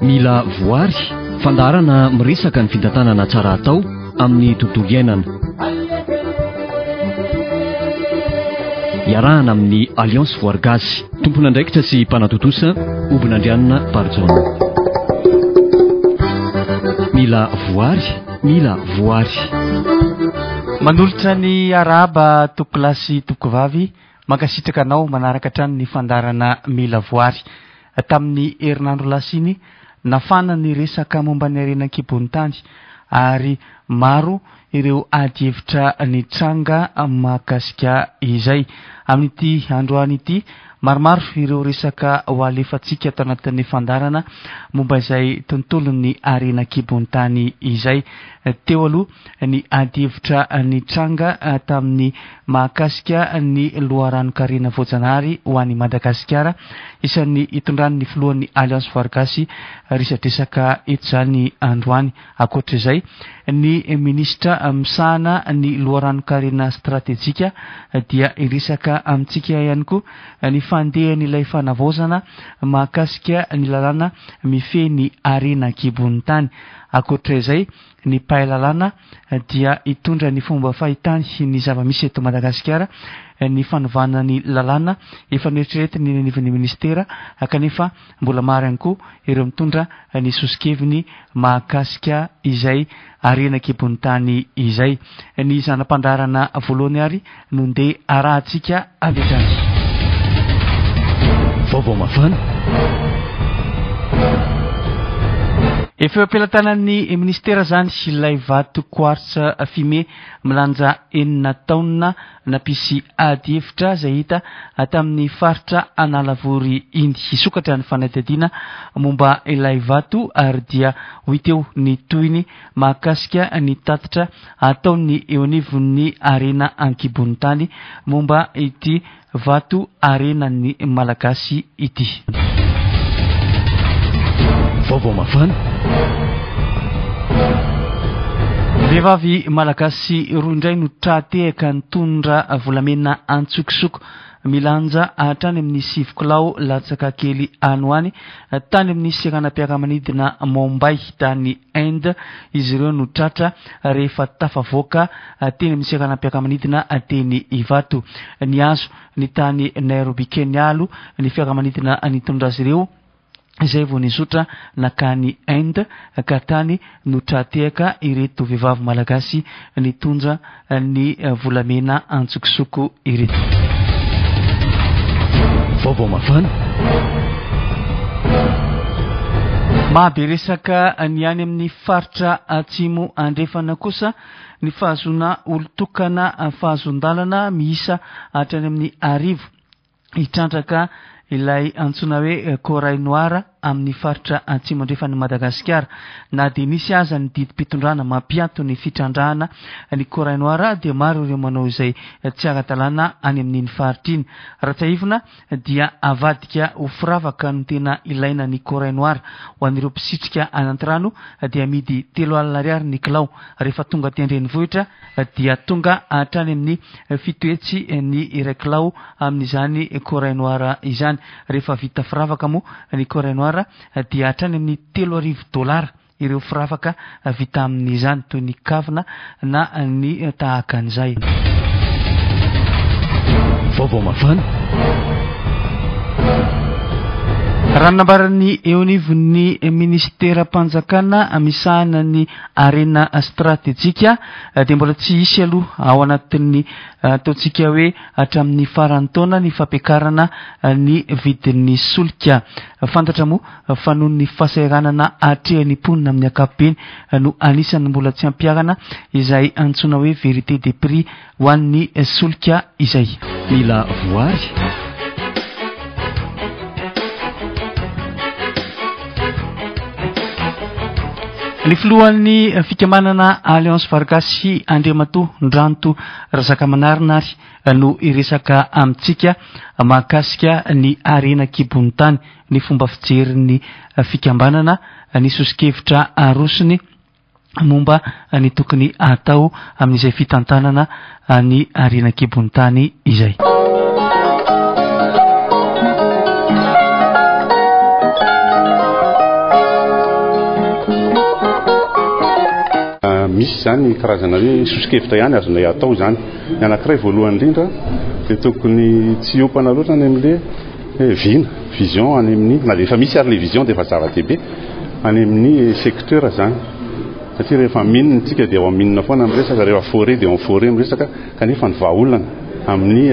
Mila voary, fandaharana miresaka ny fitantanana tsara atao amin'ny tontolo iainana. Iarahana amin'ny Alliance Voary Gasy. Tompon'andraikitra sy mpanatontosa, Hobinandrianina Barijaona. Mila voary, mila voary. Manolotra ny arahaba tompokolahy sy tompokovavy, mankasitraka anao manaraka hatrany ny fandaharana Mila Voary. Tamin'ny herinandro lasa iny, nafana ny resaka momba ny harena an-kibon'ny tany ary maro ireo adihevitra nitranga mahakasika izay. Amin'ity androany ity, maromaro ireo resaka ho alefantsika ato anatin'ny fandaharana momba izay tontolon'ny harena an-kibon'ny tany izay. Teo aloha ny adihevitra nitranga tamin'ny mahakasika ny loharanon-karena voajanahary ho an'i Madagasikara, isan'ny itondran'ny filohan'ny Alliance Voary Gasy resadresaka eto izany androany. Ankoatra izay, ny minisitra misahana ny loharanon-karena stratejika dia hiresaka amintsika ihany koa ny fandehan'ilay fanavaozana mahakasika ny lalàna mifehy ny harena an-kibon'ny tany. Ankoatra izay, ny mpahay lalàna dia hitondra ny fomba fahitany ny zava-misy eto Madagasikara, ny fanovana ny lalàna efa noeritreretiny eny anivon'ny minisitera kanefa mbola maro ihany koa ireo mitondra ny soso-keviny mahakasika izay harena an-kibon'ny tany izay. Ny zana-pandaharana voalohany ary no ndeha arahantsika avy hatrany. Vaovao mafana. Efa eo am-pelatanan'ny minisitera izany ilay vato quartz fumé milanja enina taonina nampisy ady hevitra izay hita tamin'ny faritra Analavory iny. Hisokatra ny fanadihadiana momba ilay vato ary dia ho hita eo ny tohiny mahakasika ny tatitra ataon'ny eo anivon'ny harena an-kibon'ny tany momba ity vato harenan'ny Malagasy ity. Vaovao mafana. Vehivavy Malagasy roa indray no tra-tehaka nitondra volamena an-tsokosoko milanja hatrany amin'ny sivy kilao latsaka kely any ho any tany amin'ny seranam-piaramanidina Mumbai tany Inde izy ireo no tratra rehefa tafavoaka teny amin'ny seranam-piaramanidina teny Ivato. Nihazo ny tany Nairobi Kenya aloha ny fiaramanidina nitondra azy ireo izay vao nizotra nakany Inde ka tany no tra-tehaka ireto vehivavy malagasy nitondra ny volamena antsokosoko ireto. Vaovao mafana. Mahabe resaka ny any amin'ny faritra Atsimo Andrefana kosa ny fahazoana olon-tokana fahazon-dalana miisa hatrany amin'ny arivo. hitrandraka ilay antsoina hoe corail noir amin'ny faritra atsimo andrefan'i Madagasikara. Na dia nisy aza ny didim-pitondrana mampiato ny fitrandrahana ny corail noir dia maro ireo manao izay tsy ara-dalàna any amin'iny faritra iny. Raha tsiahivina dia avadika ho firavaka no tena ilaina ny corail noir. Ho an'ireo mpisitrika any an-trano dia amidy 30 ariary ny kilao. Rehefa tonga aty an-drenivohitra dia tonga hatrany amin'ny 700 ny iray kilao amin'izany corail noir izany. Rehefa vita firavaka moa ny corail noir dia hatrany amin'ny 3000 dolara ireo firavaka vita amin'izany toy ny kavina na ny tahaka an'izay. Vaovao mafana. Raha ny nambaran'ny eo anivon'ny minisiteram-panjakana misahana ny harena stratejika dia mbola tsy hisy aloha ao anatin'ny ataontsika hoe hatramin'ny faran'ny taona ny fampiakarana ny vidin'ny solika. Fantatra moa fa noho ny fahasahiranana atrehan'ny mponina amin'ny ankapobeny no anisan'ny mbola tsy ampiharana izay antsoina hoe vérité des prix ho an'ny solika izay. Mila voary. Ny filohan'ny fikambanana Alliance Vargasy Andriamatoa Ndranto Razakamanarina ary no hiresaka amintsika mahakasika ny harena an-kibon'ny tany, ny fomba fijerin'ny fikambanana, ny soso-kevitra arosony momba ny tokony hatao amin'izay fitantanana ny harena an-kibon'ny tany izay. Misy izany karazana hoe soso-kevitra ihany azonay atao izany. Ny anankiray voalohany indrindra dia tokony tsy hiompana loatra any amin'ilay vina, vision, any amin'ny, na dia efa misy ary ilay vision dia efa zava-dehibe, any amin'ny secteur izany. Satria rehefa mine isika dia ao amin'ny mine foana miresaka, rehefa forêt dia ao amin'ny forêt miresaka, kanefa ny vahaolana amin'ny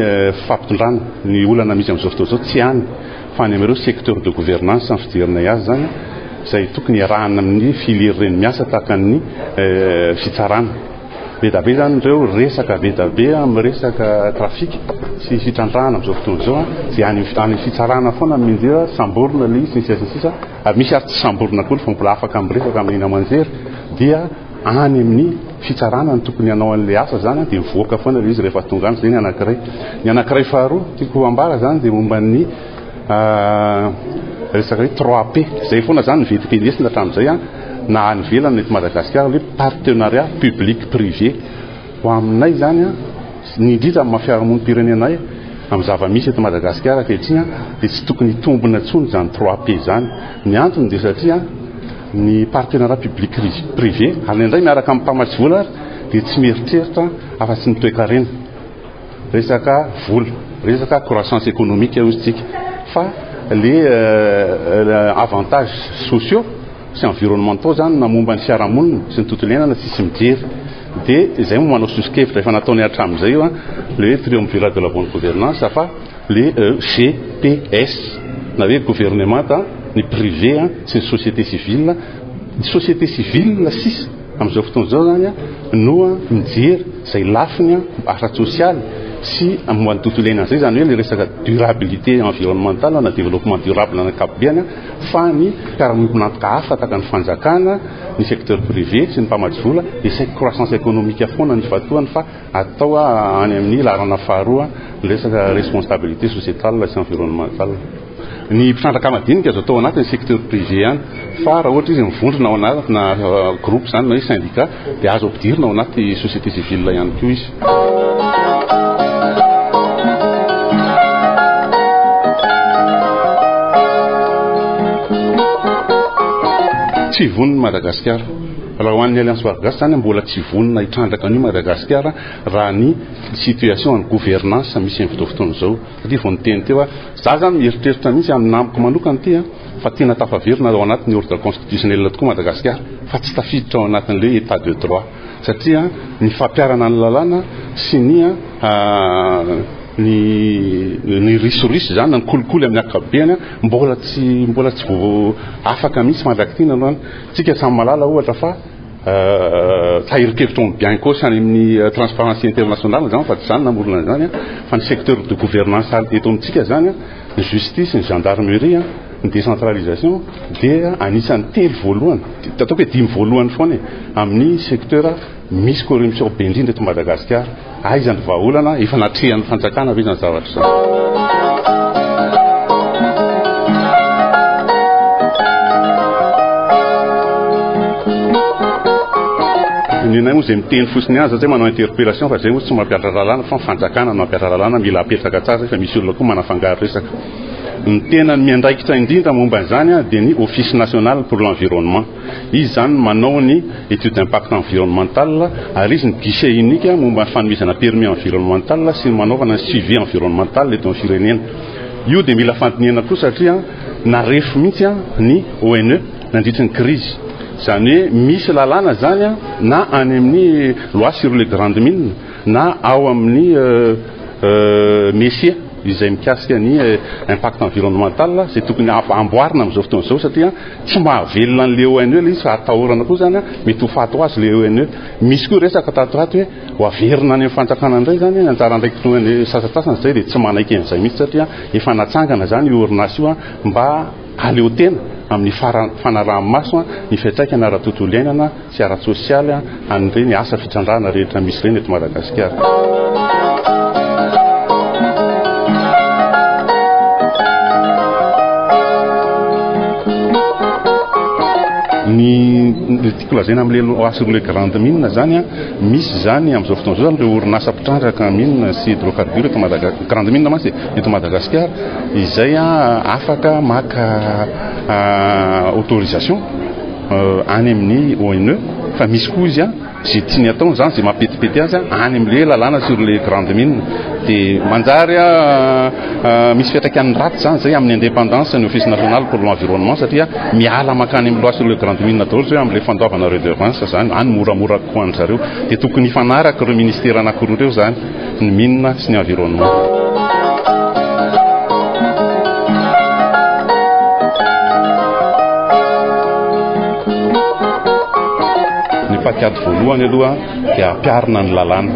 fampitondrana ny olana misy amin'izao fotoana izao tsy any fa any amin'ireo secteur de gouvernance ny fijerinay azy izany, izay tokony hiarahana amin'ny filière ireny miasa tahaka ny fitsarana. Be dia be izany ireo resaka be dia be amin'ny resaka trafic sy fitrandrahana amin'izao fotoana izao, izay any amin'ny fitsarana foana no mianjera, samborina ilay izy sy ny sisa sy ny sisa, ary misy ary tsy samborina akory fa mbola afaka miresaka amin'ny haino aman-jery, dia any amin'ny fitsarana no tokony hanao an'ilay asa izany, dia mivoaka foana ilay izy rehefa tonga any, izay ny anankiray. Ny anankiray faharoa tiako ambara izany dia momba ny resaka hoe 3P, izay foana izany ny vetim-pielezana hatramin'izay na any ivelany na eto Madagasikara, hoe partenariat public privé. Ho aminay izany, ny indrindra amin'ny maha fiarahamonim-pirenena anay, amin'ny zava-misy eto Madagasikara ankehitriny dia tsy tokony hitombina intsony izany 3P izany. Ny antony dia satria ny partenariat public privé, ary indraindray miaraka amin'ny mpamatsy vola ary, dia tsy mieritreritra afa-tsy ny toekarena. Resaka vola, resaka croissance économique hoy isika, fa les avantages sociaux sy environnementaux zany na momba ny fiarahamonina sy ny tontolo iainana tsisy mijery. Dia izay moa manao soso-kevitra efa nataony hatramin'izay io, le hoe triumvirat de la bonne gouvernance fa le GPS na hoe gouvernemanta, ny privé sy ny société civile. Ny société civile sisa amin'izao fotoana izao zany no mijery izay lafiny ara-tsosialy sy momba ny tontolo iainana izay, izany hoe le resaka durabilité environnementale na développement durable ny ankapobeny, fa ny mpiara-miombon'antoka hafa tahaka ny fanjakana, ny secteur privé sy ny mpamatsy vola dia saiky croissance économique foana ny ifantohany fa atao any amin'ny laharana faharoa ny resaka responsabilité sociétale sy environnementale. Ny mpitrandraka madinika azo atao anatin'ny secteur privé ihany fa raha ohatra izy mivondrona ao anatina groupe izany na hoe syndicat dia azo ampidirina ao anaty société civile ihany koa izy. Tsy vonona Madagasikara. Raha ho an'ny Alliance Voary Gasy izany mbola tsy vonona hitrandraka an'io Madagasikara raha ny situation ny gouvernance misy amin'izao fotoana izao. Satria vao niteny teo aho, za zany mieritreritra mihitsy amin'ny namako manokana ity fa tena tafaverina ao anatin'ny ordre constitutionnel tokoa Madagasikara fa tsy tafiditra ao anatin'ilay état de droit. Satria ny fampiharana ny lalàna sy ny ny ny risoriso izany na ny kolikoly amin'ny ankapobeny mbola tsy mbola tsy vo afaka mihitsy mandrak'ity aloha. Tsika samy mahalala ohatra fa tahirin-kevitra ao amin'ny Bianco sy any amin'ny Transparency International izany fa tsy izany namorona an'izany fa ny secteur de gouvernance eto amintsika izany, ny justice, ny gendarmerie, ny décentralisation dia anisan'ny telo voalohany, ataoko hoe dimy voalohany foana e, amin'ny secteur misy corruption be indrindra eto Madagasikara. Aiza ny vahaolana? Efa natrehan'ny fanjakana ve izany zavatra izany? Ny anay moa izay miteny fotsiny ihany satria manao interpellation fa izay moa tsy mampihatra lalàna fa ny fanjakana no mampihatra lalàna, mila apetraka tsara izay fa misy olona koa manafangaro resaka. Ny tena miandraikitra indrindra momba an'izany dia ny Office national pour l'environnement. Izy izany no manao ny étude d'impact environnemental ary izy no guichet unique momba ny fanomezana permis environnemental sy ny manaovana ny suivi environnemental eto amin'ny firenena. Io dia mila fandinihana koa satria narefo mihitsy ny ONE nandritry ny crise. Izany hoe misy lalàna izany na any amin'ny loi sur les grandes mines na ao amin'ny MECIA izay mikasika ny impact environnemental izay tokony amboarina amin'izao fotoana izao satria tsy mahavelona an'ilay ONE ilay izy fa atahorana koa izany mety ho faty ho azy ilay ONE. Misy koa resaka tato ho ato hoe ho averina any amin'ny fanjakana indray izany ny anjara andraikitry ny ONE sasantsasany izay dia tsy manaiky an'izay mihitsy satria efa natsangana izany io orinasa io mba hahaleo tena amin'ny fanaraha-maso ny fiantraikany ara-tontolo iainana sy ara-tsosialy an'ireny asa fitrandrahana rehetra misy ireny eto Madagasikara. Ny tiako lazaina amin'ilay loi sur les grandes mines zany a, misy zany amin'izao fotoana izao zany ireo orinasa mpitrandraka mine sy hydrocarbures eto Madagasikara, grande mine mantsy eto Madagasikara izay afaka maka autorisation any amin'ny ONE fa misy koa izy a. Izay tiany atao izany, izay mampetipety azy any amin'ilay lalàna sur les grandes mines. Dia manjary misy fiantraikany ratsy izany izay amin'ny indépendance ny Office national pour l'environnement satria miala mankany amin'ny loi sur les grandes mines daholo izay amin'ilay fandoavana redevance izany, any moramora kokoa an-dry zareo. Dia tokony hifanaraka ireo ministera anankiroa ireo izany, ny mines sy ny environnement. Ny paikady voalohany aloha dia ampiharina ny lalàna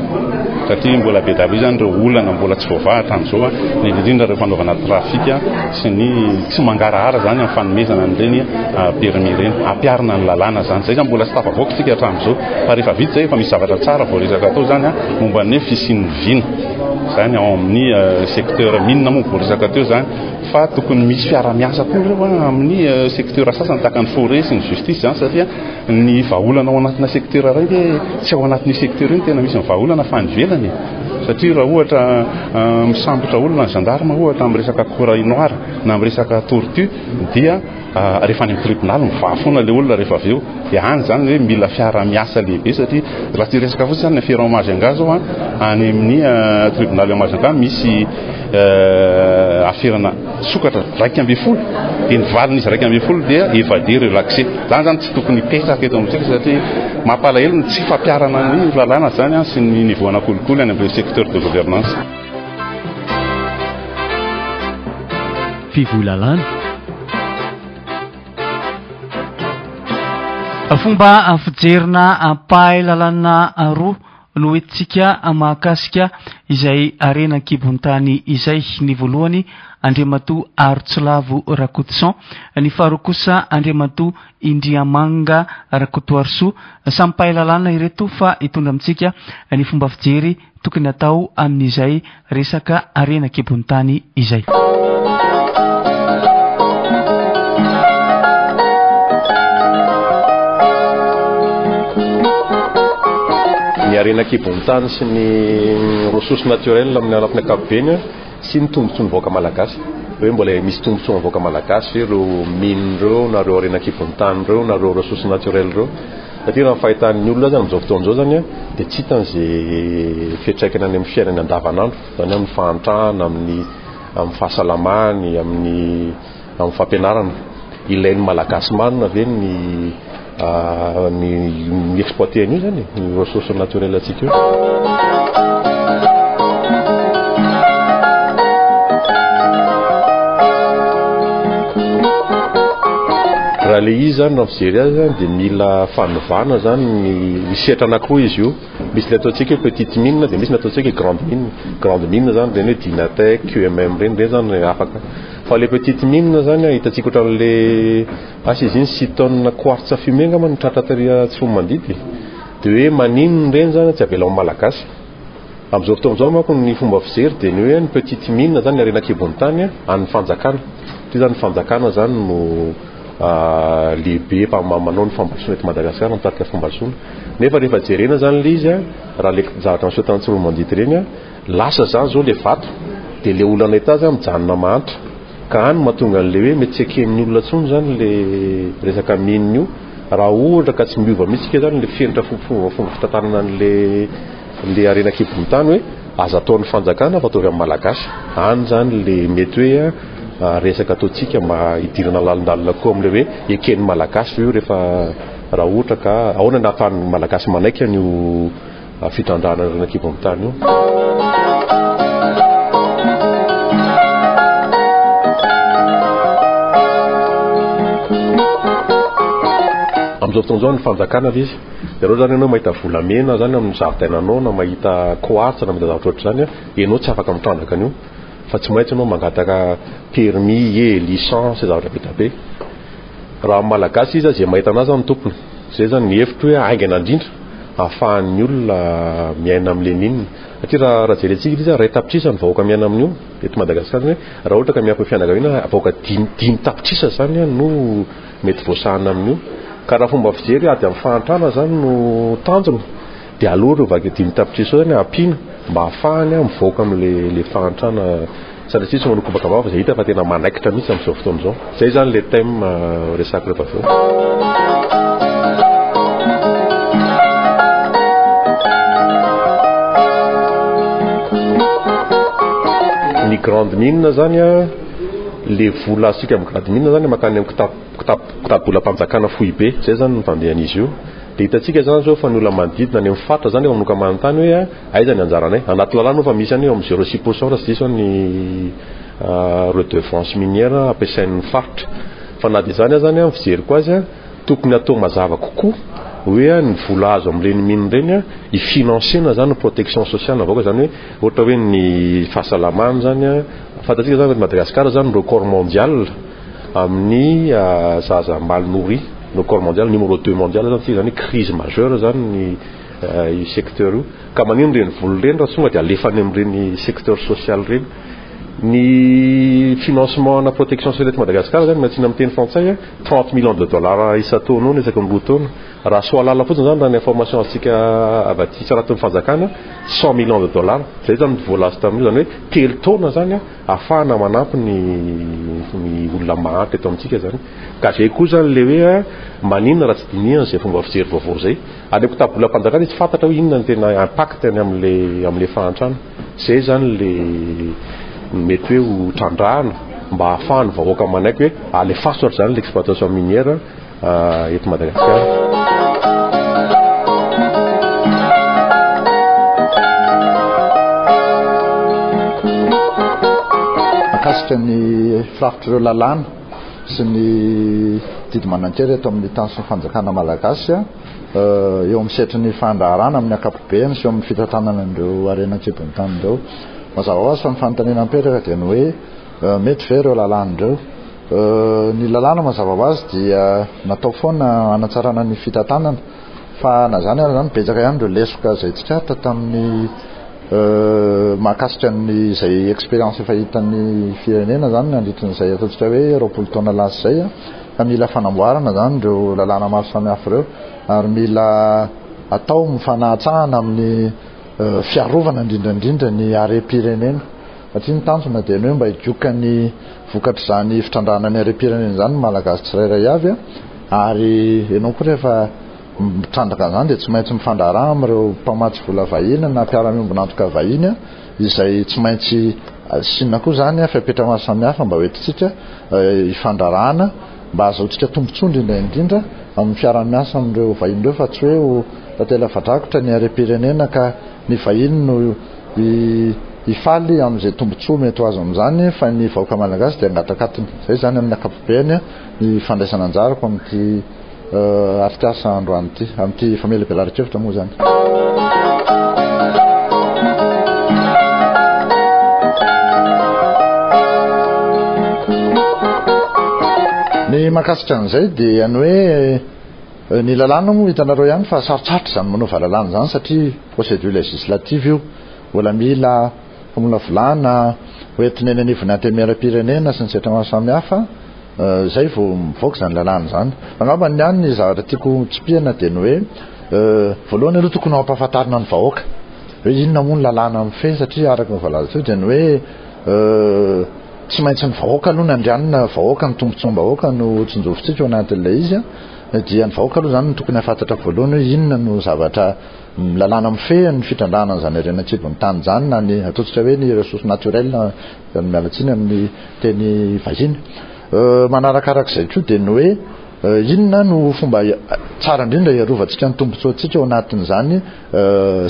satria mbola be dia be izany ireo olana mbola tsy voavaha hatramin'izao, indrindra indrindra ireo fanaovana trafika sy ny tsy mangarahara izany amin'ny fanomezana an'ireny permis ireny. Ampiharina ny lalàna izany. Izay izany mbola tsy tafavoaka isika hatramin'izao fa rehefa vita izay efa misy zavatra tsara voaresaka atao izany momba ny fisian'ny vina izany ao amin'ny secteur mine moa voaresaka teo izany fa tokony misy fiara-miasa koa ireo amin'ny secteur sasany tahaka ny forêt sy ny justice izany satria ny vahaolana ao anatina secteur iray ve tsy ao anatin'io secteur io no tena misy ny vahaolana fa any ivelany e. Satria raha ohatra misambotra olona ny gendarme ohatra amin'ny resaka corail noir na amin'ny resaka tortue dia rehefa any amin'ny tribonaly mivaha foana ilay olona rehefa avy eo. Dia any izany hoe mila fiara-miasa lehibe satria raha tsy hiresaka fotsiny izany ny affaire ao Majunga zao any amin'ny tribonaly ao Majunga misy aferana sokatra 11 dia ny valin'izy 11 dia évadé relaxé. Izany izany tsy tokony hipetraka eto amintsika satria mampalahelo ny tsy fampiharana ny lalàna izany sy ny niveau ana kolikoly any amin'ireo secteur de gouvernance. Fivoy lalàna. Fomba fijerina mpahay lalàna roa no entintsika mahakasika izay harena an-kibon-tany izay. Ny voalohany Andriamatoa Harotsilavo Rakotoson, ny faharoa kosa Andriamatoa Indriamanga Rakotoarisoa. Samy mpahay lalàna ireto fa hitondra amintsika ny fomba fijery tokony hatao amin'izay resaka harena an-kibon'ny tany izay. Ny harena an-kibon'ny tany sy ny ressources naturelles amin'ny lafiny ankapobeny sy ny tombontsoan'ny vahoaka malagasy. Hoe mbola misy tombontsoan'ny vahoaka malagasy ve ireo mines ireo na ireo harena an-kibon'ny tany ireo na ireo ressources naturelles ireo. Satria raha ny fahitan'ny olona azy amin'izao fotoana izao izany dia tsy hitany izay fiantraikany any amin'ny fiainany andavanandro, izany hoe amin'ny fahantrana, amin'ny amin'ny fahasalamany, amin'ny amin'ny fampianarana. Ilain'ny Malagasy marina ve ny ny mi-exploiter an'io izany e, ny ressources naturelles antsika io? Raha ilay izy izany raha mijery azy izany dia mila fanovana izany ny misy sehatra anankiroa izy io. Misy ilay ataontsika hoe petite mine dia misy ny ataontsika hoe grande mine. Grande mine izany ireny hoe Dynatec, QMM ireny, ireny izany afaka. Fa ilay petite mine izany hitantsika ohatran'ilay asa izy iny six tonnes quartz fumé angamba no tratra tery Tsiroanomandidy. Dia hoe maninona ireny izany tsy avela ho Malagasy. Amin'izao fotoana izao manko ny fomba fijery dia ny hoe ny petite mine izany ny harena an-kibon'ny tany an'ny fanjakana. Satria izany ny fanjakana izany no lehibe manao ny fampandrosoana eto Madagasikara, mitarika fampandrosoana. Nefa rehefa jerena izany ilay izy, raha ilay zavatra niseho tany Tsiroanomandidy ireny, lasa izany izao ilay vato, dia ilay olona nahita azy mijanona mahantra. Ka any no mahatonga an'ilay hoe mety tsy eken'ny olona intsony izany ilay resaka mine io, raha ohatra ka tsy miova mihitsy isika izany ilay fenitra fomba fitantanana an'ilay Le harena an-kibon'ny tany hoe aza ataon'ny fanjakana fa ataovy amin'ny malagasy. Any izany le mety hoe resaka ataontsika mba hidirana lalindalina kokoa amin'ilay hoe eken'ny malagasy ve io rehefa raha ohatra ka ahoana ny ahafahan'ny malagasy manaiky an'io fitrandrahana harena an-kibon'ny tany io. Amin'izao fotoana izao ny fanjakana ve izy Dia raha ohatra zany ianao mahita volamena zany amin'ny zaridainanao na mahita quartz na mahita zavatra ohatr'izany an, ianao tsy afaka mitrandraka an'io fa tsy maintsy ianao mangataka permis e, licence, zavatra be dia be. Raha amin'ny malagasy izy izay mahita anazy zany tompony. Izay zany ny hevitro hoe haingana indrindra ahafahan'ny olona miaina amin'ilay mine. Satria raha raha jerentsika ilay izy 1 tapitrisa ny vahoaka miaina amin'io eto Madagasikara zany hoe raha ohatra ka miampy ny fianakaviana vahoaka 5 tapitrisa zany no mety voasahana amin'io. Ka raha fomba fijery ady amin'ny fahantrana izany no tanjona dia aleo ireo vaky 5 tapitrisa ireo izany ampiana mba hahafahany mivoaka amin'ilay fahantrana satria tsy manao kobaka vava izay hita fa tena manaikitra mihitsy amin'izao fotoana izao. Izay izany ilay thème resahako rehefa avy eo. grande mine zany a, le vola azontsika amin'ny grande mine zany mankany amin'ny kitapo kitapo kitapo-bolam-panjakana foibe, zay zany ny fandehan'izy io. Dia hitantsika zany zao fa ny olona manodidina any amin'ny faritra zany efa manomboka manontany hoe aiza ny anjaranay. Anaty lalàna moa fa misy any eo amin'ny zéro six pour cent raha tsy diso aho ny redevance minière ampiasain'ny faritra. Fa na dia izany aza ny fijeriko azy, tokony atao mazava kokoa hoe ny vola azo amin'ireny mine ireny hi-financer-na zany ny protection sociale ny vahoaka, izany hoe ohatra hoe ny fahasalamana zany, fantatsika zany fa eto Madagasikara zany record mondial amin'ny zaza mal nourri, record mondial, numéro deux mondial zany tsika, izany hoe crise majeure zany ny io secteur io, ka maninona ireny vola ireny raha tonga dia alefa any amin'ireny secteur social ireny. Ny financement ana protection sociale eto Madagasikara zany miantsina amin'ny teny frantsay 30 millions de dollars isan-taona eo isaky ny roa taona. Raha Soalala fotsiny zany raha ny information azontsika avy aty Tsaraton'ny fanjakana 100 millions de dollars. Zay zany ny vola azo tamin'io zany hoe telo taona zany ahafahana manampy ny ny olona mahantra eto amintsika zany. Ka zay koa zany le hoe maninona raha tsy dinihana izay fomba fijery vaovao izay. Any am-kitabolam-panjakana izy tsy fantatra hoe inona ny tena impact-ny amin'le amin'le fahantrana. Zay zany le mety hoe ho trandrahana mba ahafahan'ny vahoaka manaiky hoe alefaso ary zany l'exploitation minière eto Madagasikara. Mahakasika ny firafitr'ireo lalàna sy ny didy manan-kery eto amin'ny tany sy ny fanjakana malagasy eo amin'ny sehatry ny fandraharahana amin'ny ankapobeny sy eo amin'ny fitantanana an'ireo harena an-kibon'ny tany ireo. Mazava ho azy fa ny fanontaniana mipetraka dia ny hoe mety ve ireo lalàna ireo? Ny lalàna mazava ho azy dia natao foana hanatsarana ny fitantanana fa na izany ary izany betsaka ihany ireo lesoka izay tsikaritra tamin'ny mahakasika ny izay expérience efa hitan'ny firenena izany nandritry ny izay ataontsika hoe 20 taona lasa izay fa mila fanamboarana izany ireo lalàna maro samihafa ireo ary mila atao mifanahatsahana amin'ny fiarovana indrindra indrindra ny harem-pirenena satria ny tanjona dia ny hoe mba higoka ny vokatr'izany fitrandrahana ny harem-pirenena izany ny Malagasy tsirairay avy ary ianao koa rehefa mitrandraka an'izany dia tsy maintsy mifandraharaha amin'ireo mpamatsy vola vahiny na mpiara-miombon'antoka vahiny izay tsy maintsy asiana koa izany fepetra maro samihafa mba hoentintsika hifandraharahana mba hahazoantsika tombontsoa indrindra indrindra amin'ny fiaraha-miasa amin'ireo vahiny ireo fa tsy hoe ho tantely afa-drakotra ny harem-pirenena ka ny vahiny no hifaly amin'izay tombontsoa mety ho azo amin'izany fa ny vahoaka malagasy dia hangatakatiny. Izay izany amin'ny ankapobeny ny fandraisana anjarako amin'ity atrikasa androany ity, amin'ity famelabelaran-kevitra moa izany. Ny mahakasika an'izay dia ny hoe ny lalàna moa hitanareo ihany fa sarotsarotra izany manova lalàna izany satria procédure législative io, mbola mila famolavolana hoentina eny anivon'ny antenimieram-pirenena sy ny sehatra maro samihafa. Izay vao mivoaka izany lalàna izany. Angamba ny ahy ny zavatra tiako tsipihana dia ny hoe voalohany aloha tokony ho ampahafantarina ny vahoaka hoe inona moa ny lalàna mifehy satria araka ny voalaza teo dia ny hoe tsy maintsy ny vahoaka aloha no andrianina, vahoaka ny tombontsoam-bahoaka no tsinjovintsika ao anatin'ilay izy dia ny vahoaka aloha izany no tokony hahafantatra voalohany hoe inona no zavatra lalàna mifehy ny fitrandrahana an'izany harena an-kibon'ny tany izany na ny ataontsika hoe ny ressources naturelles miala tsiny amin'ny teny vahiny. Manarakarak'izay koa dia ny hoe inona no fomba tsara indrindra hiarovantsika ny tombontsoantsika ao anatin'izany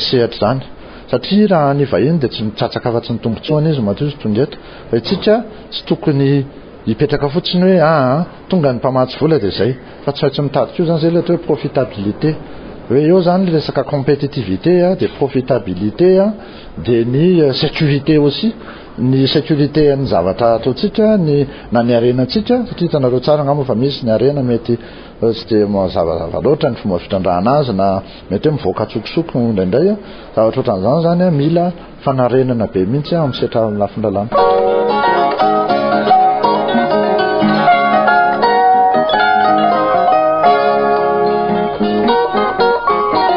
sehatra izany. Satria raha ny vahiny dia tsy mitsatsaka afa-tsy ny tombontsoany izy matoa izy tonga eto. Fa isika tsy tokony hipetraka fotsiny hoe aa tonga ny mpamatsy vola dia izay. Fa tsy maintsy mitady koa izany izay ilay atao hoe profitabilité. Hoe eo izany ny resaka compétitivité dia profitabilité dia ny sécurité aussi. Ny sécurité an'ny zavatra ataontsika, ny na ny harenantsika, satria hitanareo tsara angamba fa misy ny harena mety tsy dia mazavazava loatra ny fomba fitrandrahana azy na mety hoe mivoaka antsokosoko indraindray. Zavatra ohatran'izany izany mila fanarenana be mihitsy amin'ny sehatra amin'ny lafiny lalàna.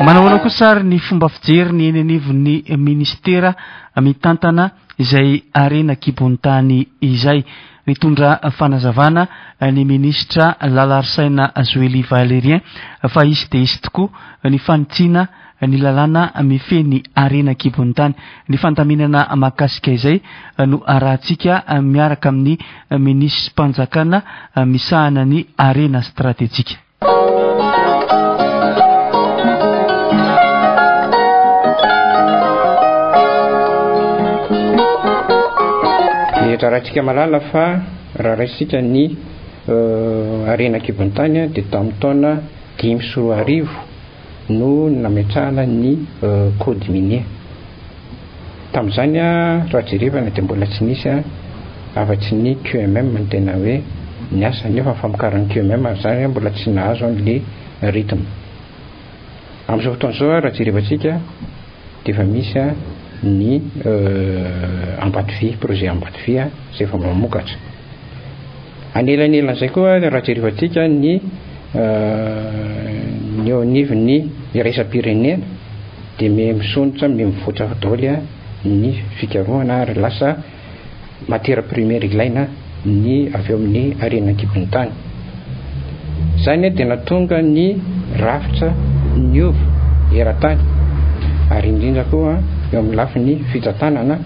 Manahoana kosa ary ny fomba fijery ny eny anivon'ny minisitera mitantana izay harena an-kibon'ny tany izay. Nitondra fanazavana ny minisitra Lalarisaina Zoely Valérien fa hisy dia hisy tokoa ny fanitsiana. ny lalàna mifehy ny harena an-kibon'ny tany. Ny fandaminana mahakasika izay no arahantsika miaraka amin'ny minisitrim-panjakana misahana ny harena stratejika. Iarahantsika mahalala fa raha raisintsika ny harena an-kibon'ny tany dia tamin'ny taona 2005 no nametrahana ny code minier. Tamin'izany raha jerevana dia mbola tsy nisy afa-tsy ny QMM no tena hoe niasa nefa ny famokaran'ny QMM izany mbola tsy nahazo an'le rythme. Amin'izao fotoana izao raha jerevantsika dia efa misy ny Ambatovy, projet Ambatovy izay efa mamokatra. Anelanelan'izay koa raha jerevantsika ny ny eo anivon'ny iraisam-pirenena dia miha misondrotra, miha mivoatra daholo ny fikarohana ary lasa matière première ilaina ny avy eo amin'ny harena an-kibon'ny tany. Izany dia nahatonga ny rafitra niova eran-tany ary indrindra koa eo amin'ny lafiny fitantanana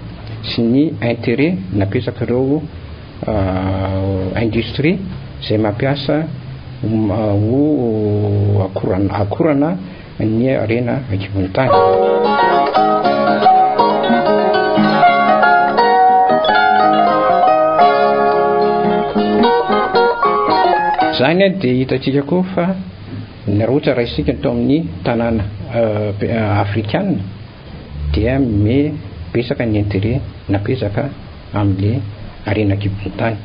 sy ny intérêt napetrak'ireo industrie izay mampiasa ho akorana ny harena an-kibon'ny tany. Izany dia hitantsika koa fa ny raha ohatra raisintsika ny tao amin'ny tanàna afrikana dia me betsaka ny intérêt napetraka amin'le harena an-kibon'ny tany.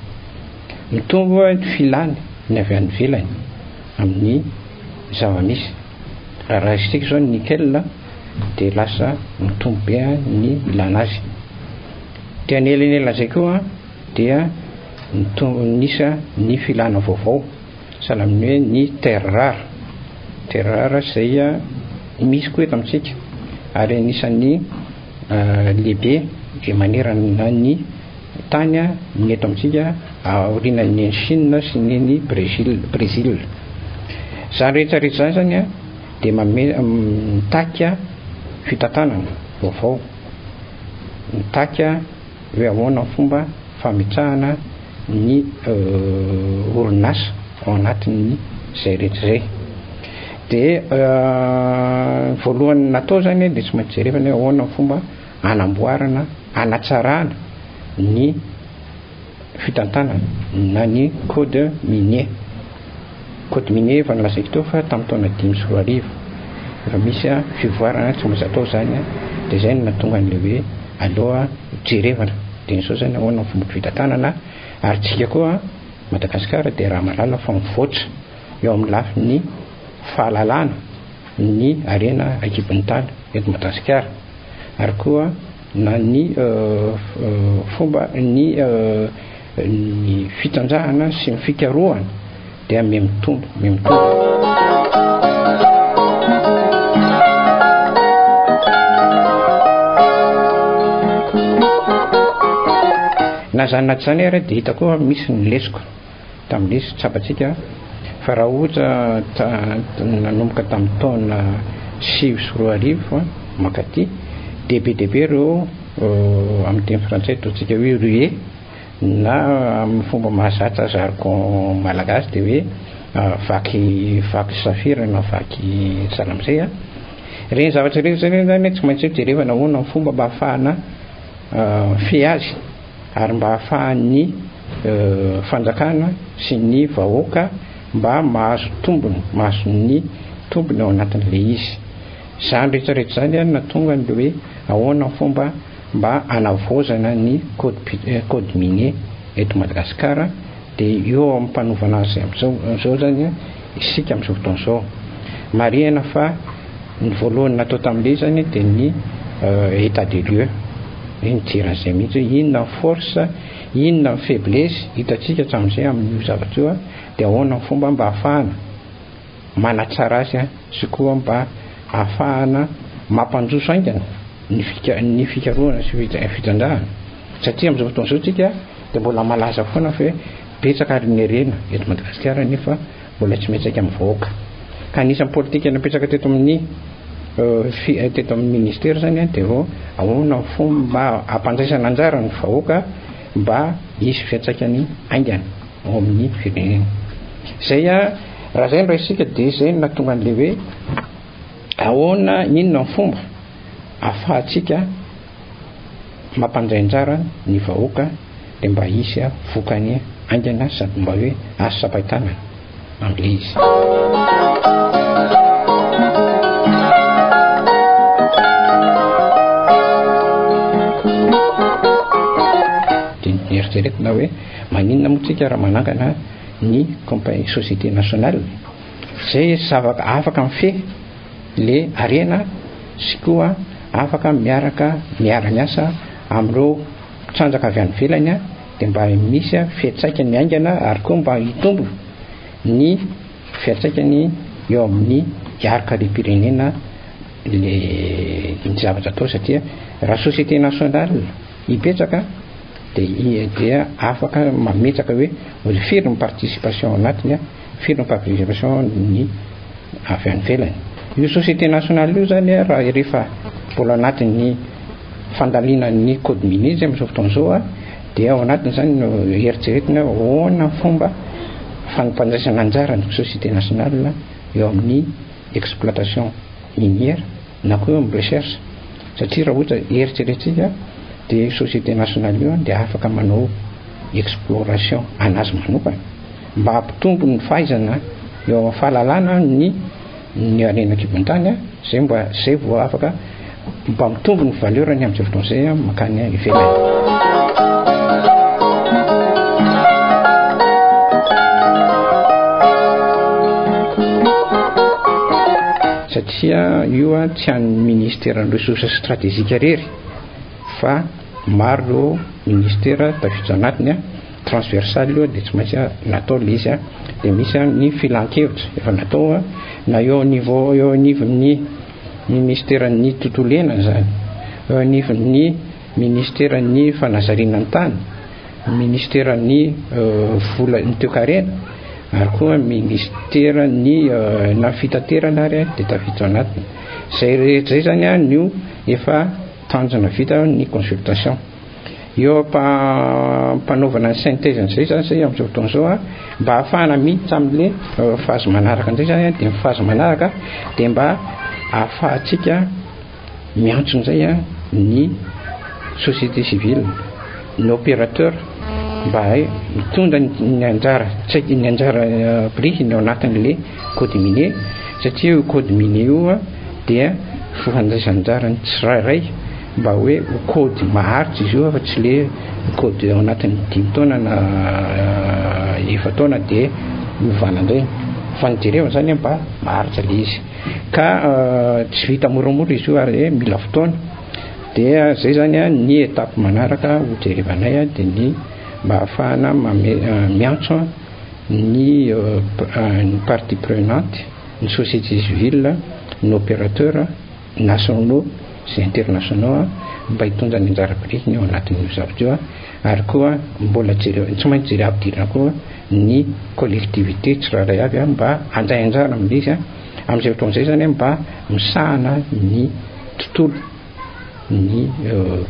Mitombo ny filany ny avy any ivelany amin'ny zava-misy. Raha raisintsika izao ny nickel dia lasa mitombo be ny ilana azy. Dia anelanelan'izay koa dia mitombo ny isa ny filana vaovao. Sahala amin'ny hoe ny terre rare. Terre rare izay misy koa eto amintsika ary anisan'ny lehibe izay manerana ny tany ny eto amintsika aorianan'ny any Chine sy ny any Brésil. Brésil. Izany rehetra rehetra izany zany dia manome mitaky fitantanana vaovao, mitaky hoe ahoana ny fomba fametrahana ny orinasa ao anatin'ny izay rehetra izay. Dia ny voalohany natao zany dia tsy maintsy jerevana hoe ahoana ny fomba hanamboarana, hanatsarana ny fitantanana na ny code minier. Code minier efa nolazaiko teo fa tamin'ny taona 2005 efa misy fivoarana tsy maintsy atao izany dia izay no nahatonga an'ilay hoe aloha jerevana dia izao izany ahoana ny fomba fitantanana ary tsika koa Madagasikara dia raha mahalala fa mivoatra eo amin'ny lafiny fahalalana ny harena an-kibon'ny tany eto Madagasikara ary koa na ny fomba ny ny fitrandrahana sy ny fikarohana dia mihamitombo mihamitombo. Na izany na tsy izany ary dia hita koa misy ny lesoka tamin'ilay izy tsapantsika fa raha ohatra nanomboka tamin'ny taona 2009 mankaty dia be dia be ireo amin'ny teny frantsay ataontsika hoe ruée Na amin'ny fomba mahazatra jargon malagasy dia hoe vaky vaky safira na vaky sahala amin'izay an. Ireny zavatra ireny zany zany tsy maintsy jerevana ahoana ny fomba mba ahafahana mifehy azy ary mba ahafahan'ny fanjakana sy ny vahoaka mba mahazo tombony, mahazo ny tombony ao anatin'ilay izy. Izany rehetra rehetra izany no nahatonga an'ilay hoe ahoana ny fomba mba hanavaozana ny code code minier eto Madagasikara dia eo am-panovana azy amin'izao izany isika amin'izao fotoana izao. Marihana fa ny voalohany natao tamin'ilay izy izany dia ny état des lieux, hoe nijery an'izay mihitsy hoe inona ny force, inona ny faiblesse hitantsika hatramin'izay amin'io zavatra io dia ahoana ny fomba mba hahafahana manatsara azy sy koa mba hahafahana mampandroso haingana ny fika ny fikarohana sy fitrandrahana satria amin'izao fotoana izao tsika dia mbola malaza foana fa hoe betsaka ary ny harena eto Madagasikara nefa mbola tsy miantraika amin'ny vahoaka ka anisan'ny politika napetraka teto amin'ny Teto amin'ny ministera izany dia vao ahoana ny fomba hampandraisana anjara ny vahoaka mba hisy fiantraikany haingana ao amin'ny firenena. Izay raha izay no raisintsika dia izay no nahatonga an'ilay hoe ahoana, inona ny fomba ahafahantsika mampandray anjara ny vahoaka dia mba hisy vokany haingana sady mba hoe azo tsapain-tanana amin'ilay izy. Dia nieritreretina hoe maninona moa tsika raha manangana ny compagnie société nationale izay zavatra afaka mifehy le harena sy koa afaka miaraka miara-miasa amin'ireo mpitrandraka avy any ivelany dia mba misy fiantraikany haingana ary koa mba hitombo ny fiantraikany eo amin'ny harin-karem-pirenena le ny zavatra atao satria raha société nationale hipetraka dia dia afaka mametraka hoe firy ny participation ao anatiny firy ny participation ny avy any ivelany. Io société nationale io zany raha rehefa mbola anatin'ny fandalinan'ny code minier izy amin'izao fotoana izao dia ao anatiny zany no eritreretina ahoana ny fomba fampandraisana anjara ny société nationale eo amin'ny exploitation minière na koa eo amin'ny recherche satria raha ohatra eritreretintsika dia société nationale io dia afaka manao exploration anazy manokana mba hampitombo ny fahaizana eo amin'ny fahalalana ny ny harena an-kibon-tany zay mba zay vao afaka mba mitombo ny valeur-ny amin'izay fotoana izay mankany ivelany. Satria io tsy an'ny ministeran'ny ressources stratégiques irery fa maro ireo ministera tafiditra anatiny transversal io dia tsy maintsy natao ilay izy dia misy ny filan-kevitra efa natao na eo niveau eo anivon'ny ministeran'ny tontolo iainana izany eo anivon'ny ministeran'ny fanazariana ny tany ministeran'ny vola ny toekarena ary koa ministeran'ny na fitaterana ary dia tafiditra ao anatiny izay rehetra izay izany no efa tanjona vita ny consultation Eo am-panaovana ny synthèse an'izay zany zay amin'izao fotoana izao a, mba ahafahana miditra amin'le phase manaraka indray zany a, dia ny phase manaraka dia mba ahafahantsika miantso indray a ny société civile, ny opérateur mba mitondra ny anjara, tsy haiko ny anjara birikiny ao anatin'le code minier satria io code minier io a dia fandraisana anjara ny tsirairay mba hoe ho code maharitra izy io fa tsy le code ao anatin'ny dimy taona na efa-taona dia ovana indray fa ny jerevana zany mba maharitra le izy ka tsy vita moramora izy io ary mila fotoana dia zay zany ny étape manaraka ho jerevanay dia ny mba ahafahana miantso ny ny partie prenante ny société civile ny opérateur nationaux sy internationaux mba hitondra ny anjara birikiny ao anatin'io zavatra io ary koa mbola jereo tsy maintsy jere ampidirina koa ny collectivité tsirairay avy mba handray anjara amin'ilay izy amin'izay fotoana izay zany mba misahana ny tontolo ny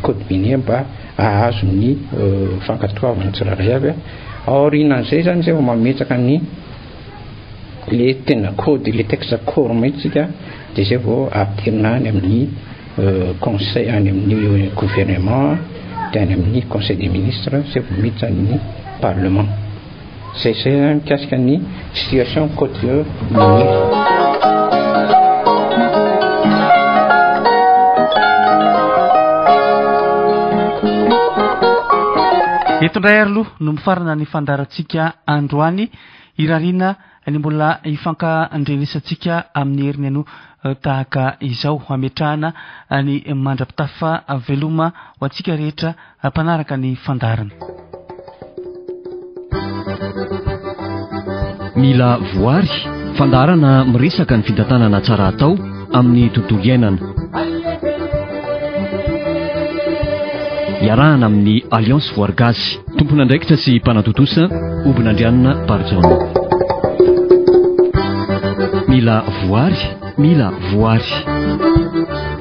code minier mba hahazo ny fankatoavana tsirairay avy aorianan'izay zany zay vao mametraka ny le tena code le texte corps mihitsy tsika dia zay vao ampidirina any amin'ny conseil any amin'ny gouvernement dia any amin'ny conseil des ministres zay vao miditra amin'ny parlement zay zay mikasika ny situation code minier. Eto indray ary aloha no mifarana ny fandaharantsika androany. Irariana ny mbola hifankandrenesantsika amin'ny heriny anio tahaka izao hametrahana ny mandra-pitafa veloma ho antsika rehetra mpanaraka ny fandaharana. Mila voary, fandaharana miresaka ny fitantanana tsara atao amin'ny tontolo iainana. Iarahana amin'ny Alliance Voary Gasy. Tompon'andraikitra sy mpanatontosa, Hobinandrianina Barijaona. Mila voary. Mila voary.